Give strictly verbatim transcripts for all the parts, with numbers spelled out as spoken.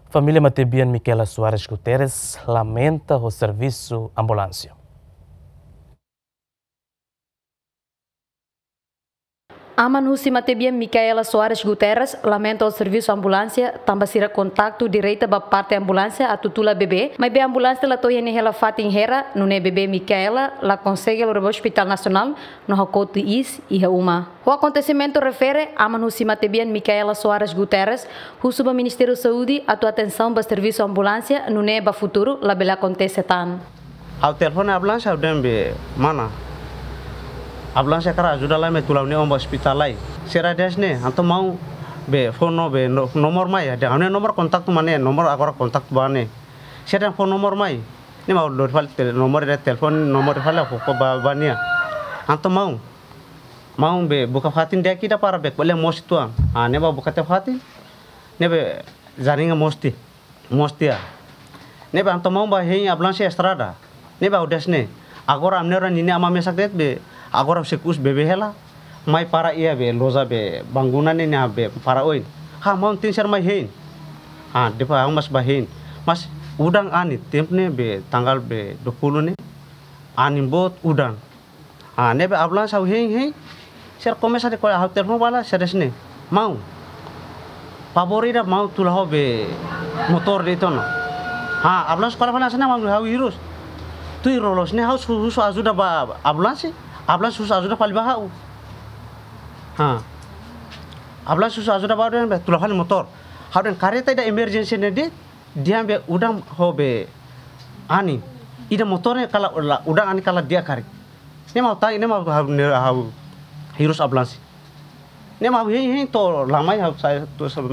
Família matebian Micaela Soares Guterres lamenta ho servisu ambulánsia. Aman husi matebian Micaela Soares Guterres lamenta ho servisu ambulánsia, tanba sira kontaktu direta ba parte ambulánsia atu tula bebé, maibé ambulánsia la to'o iha nia hela fatin hela, nune'e bebé Micaela la konsege lori ba Hospital Nasionál, no hakotu iis iha uma. Ho akontesimentu refere, aman husi matebian Micaela Soares Guterres husu ba Ministériu Saúde atu atensaun ba servisu ambulánsia, nune'e ba futuru labele akontese tan. Ha'u telefone ambulánsia, ha'u dehan be mana, ambulánsia hakarak ajuda lai mai tula ha'u-nia oan ba ospitál lai. Sira dehan ne'e, entaun maun be fó no be no-, nomor mai, dehan ha'u-nia nomor kontaktu mak ne'e, nomor agora kontaktu ba ne'e. Sira dehan fó nomor mai. Ne'e mak ha'u lori fali tel-, nomor ida telefone, nomor ida fali ha'u fó ba, ba nia. Entaun maun, maun be buka fatin di'ak ida para be ko'alia moos uitoan. Ah, ne'e mak buka tiha fatin, ne'e be jaringa moos tiha, moos tiha. Ne'e be entaun maun bá hein ambulánsia estrada. Ne'e be ha'u dehan ne'e, agora ami-nia oan ninia aman mesak de'it be, agora husik us bebé hela, mai para iha be loja be bangunan ne'e, nia be para oin. Ha, maun tenke ser mai hein. Ha, depois ha'u mós bá hein. Mas udan anin, tempu ne'e be tanggal be dua puluh ne'e, anin boot udan. Ah, ne'e be ambulánsia ha'u hein, hein. Sira komesa dehan ko'alia, ha'u telefone ba la, sira dehan ne'e, maun, favór ida maun tula ha'u be motór de'it ona. Ha, ambulánsia ko'alia fali hanesan ne'e, maun, ha'u hirus. Tuir loloos ne'e ha'u su-, husu ajuda ba ambulánsia, ambulánsia husu ajuda fali ba ha'u. Ha. Ambulánsia husu ajuda ba ha'u dehan be tula fali motór. Ha'u dehan karreta ida emerjénsia ne'e de'it, dehan be udan ho be anin. Ida motór ne'e kala la, udan anin kala di'ak karik. Ne'e mak ha'u tan, ne'e mak ha'u, ne'e ha'u hirus ambulánsia. Ne'e mak ha'u hein, hein to'o la mai ha'u sai to'o sa-,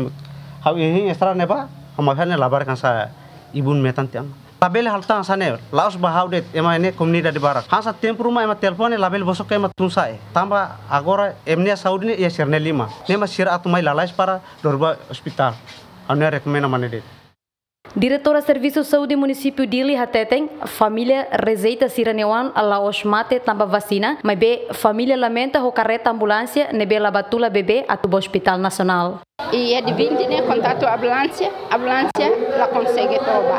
ha'u hein estrada ne'ebá, ha'u mai fali ne'e labarik hanesan ibun metan tiha ona. Labele halo tan hanesan ne'e, la'ós ba ha'u de'it, ema ne'e komunidade barak. Hanesan tempu ruma ema telefone, labele bosok ema tun sa'e. Tanba agora ema nia saúde ne'e iha sira-nia liman. Ne'e mak sira atu mai lalais para lori ba ospitál. Ha'u-nia rekomenda mak ne'e de'it. Diretora Servisu Saúde Munisípiu Dili hateten, família rejeita sira-nia oan la'ós mate tanba vasina, maibé família lamenta ho karreta ambulánsia ne'ebé la bá tula bebé atu ba Hospital Nasionál. Iha dia vinte ne'e kontaktu ambulánsia, ambulánsia la konsege to'o bá.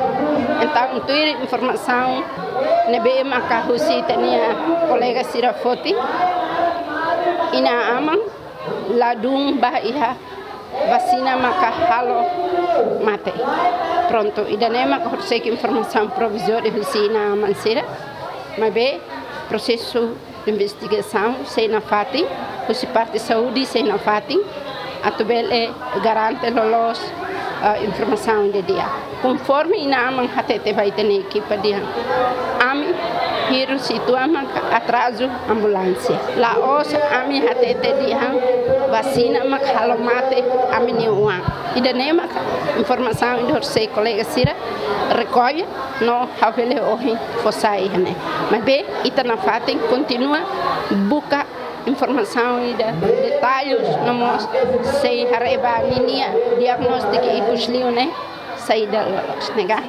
Entaun, tuir informasaun ne'ebé maka husi ita-nia kolega sira foti, inan-aman ladún bá iha vasina maka halo mate. Prontu, ida-ne'e maka horisehik informasaun provizóriu husi inan-aman sira. Maibé prosesu investigasaun sei nafatin, husi parte saúde sei nafatin, atu bele garante loloos, eh, informasaun ida di'ak. Konforme inan-aman hatete ba ita-nia ekipa dehan, ami hirus uitoan maka atrazu ambulánsia. La'ós ami hatete dehan vasina maka halo mate ami-nia oan. Ida-ne'e maka informasaun ida horisehik kolega sira rekolla no ha'u bele ohin fó sai iha ne'e. Maibé ita nafatin kontinua buka informasaun ida detalles no mós sei haree ba ninia diagnóstiku ikus liu ne'e saida loloos ne'e ka.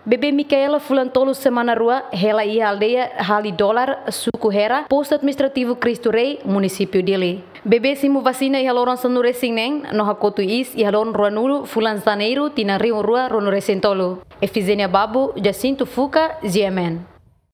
Bebé Micaela fulan tolu semana rua hela iha aldeia Hali Dolar, suku Hera, postu administrativu Cristo Rei, munisípiu Dili. Bebé simu vasina iha loron sanulu-resin-neen no hakotu iis iha loron ruanulu fulan Janeiru tinan rihun rua ruanulu-resin-tolu. Efigénia Babu, Jacinto Fuca, G M N.